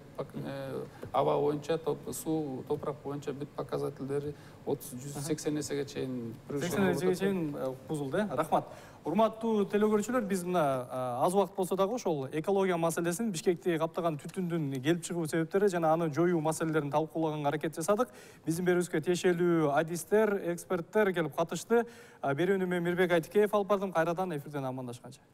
аба боюнча, суу, топурак боюнча бүт показательдери 180 эсеге чейин 80 эсеге чейин бузулду. Рахмат. Урматтуу телекөрүүчүлөр, биз мына аз убакыт болсо дагы ошол экология маселесин, Бишкекти каптаган түтүндүн келип чыгуу себептери жана аны жоюу маселелерин талкуулаганга аракет жасадык. Биздин берүүбүзгө тиешелүү адистер, эксперттер келип катышты. Берүүнү мен Мирбек Айтикеев алып бардым. Кайрадан эфирден амандашканча.